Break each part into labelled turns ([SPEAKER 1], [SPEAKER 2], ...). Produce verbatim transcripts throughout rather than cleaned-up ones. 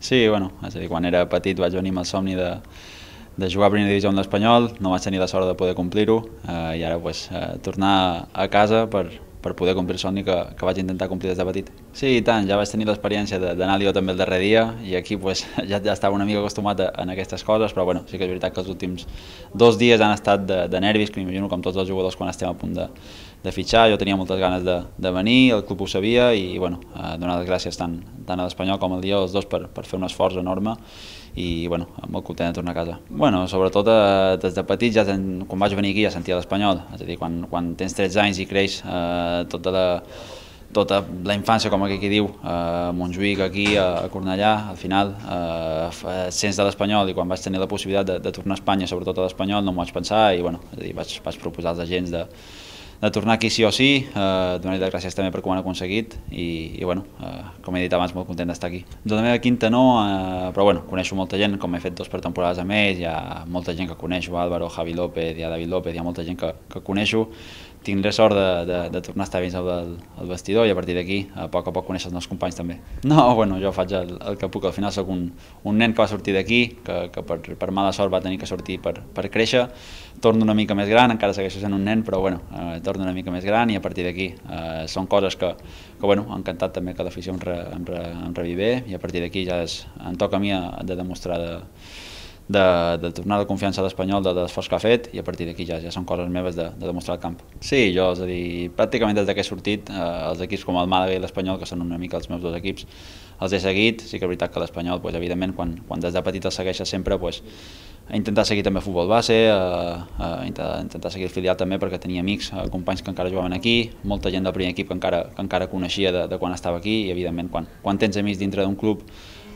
[SPEAKER 1] Sí, bueno, és a dir, quan era petit vaig venir amb el somni de, de jugar a primera divisió amb l'Espanyol, no vaig tenir la sort de poder complir-ho eh, i ara pues, eh, tornar a casa per, per poder complir el somni que, que vaig intentar complir des de petit. Sí, i tant, ja vaig tenir l'experiència d'anar jo també el darrer dia i aquí pues, ja, ja estava una mica acostumat a, a aquestes coses, però bueno, sí que és veritat que els últims dos dies han estat de, de nervis, que m'imagino com tots els jugadors quan estem a punt de, de fitxar. Jo tenia moltes ganes de, de venir, el club ho sabia i bueno, eh, donar les gràcies tant, tant a l'Espanyol com al dia els dos per, per fer un esforç enorme i bueno, molt content de tornar a casa. Bueno, sobretot eh, des de petit, ja ten, quan vaig venir aquí ja sentia l'Espanyol, és a dir, quan, quan tens tretze anys i creix eh, tota la tota la infància, com aquí diu, a Montjuïc, aquí, a Cornellà, al final eh, sents de l'Espanyol i quan vaig tenir la possibilitat de, de tornar a Espanya, sobretot a l'Espanyol, no m'ho vaig pensar i bueno, és a dir, vaig, vaig proposar als agents de, de tornar aquí sí o sí, eh, donar-li les gràcies també per com ho han aconseguit i, i bueno, eh, com he dit abans, molt content d'estar aquí. De la meva quinta no, eh, però bueno, coneixo molta gent, com he fet dos pretemporades amb ells, hi ha molta gent que coneixo, Álvaro, Javi López, hi ha David López, hi ha molta gent que, que coneixo. Tindré sort de, de, de tornar a estar dins del, del vestidor i a partir d'aquí a poc a poc conèixer els meus companys també. No, bueno, jo faig el, el que puc, al final soc un, un nen que va sortir d'aquí, que, que per, per mala sort va tenir que sortir per, per créixer, torno una mica més gran, encara segueixo sent un nen, però bueno, eh, torno una mica més gran i a partir d'aquí eh, són coses que, que bueno, han encantat també que l'afició em, re, em, re, em revivé i a partir d'aquí ja és, em toca a mi de demostrar de, De, de tornar la confiança a l'Espanyol, de, de l'esforç que ha fet i a partir d'aquí ja, ja són coses meves de, de demostrar al camp. Sí, jo, és a dir, pràcticament des que he sortit, eh, els equips com el Màlaga i l'Espanyol, que són una mica els meus dos equips, els he seguit. Sí que és veritat que l'Espanyol, pues, evidentment, quan, quan des de petit els segueixes sempre, pues, a intentar seguir també futbol base, a, a intentar, intentar seguir el filial també perquè tenia amics, companys que encara jugaven aquí, molta gent del primer equip que encara, que encara coneixia de, de quan estava aquí i evidentment quan, quan tens amics dintre d'un club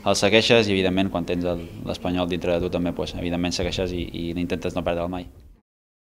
[SPEAKER 1] el segueixes i evidentment quan tens l'Espanyol dintre de tu també, pues, evidentment segueixes i, i n'intentes no perdre'l mai.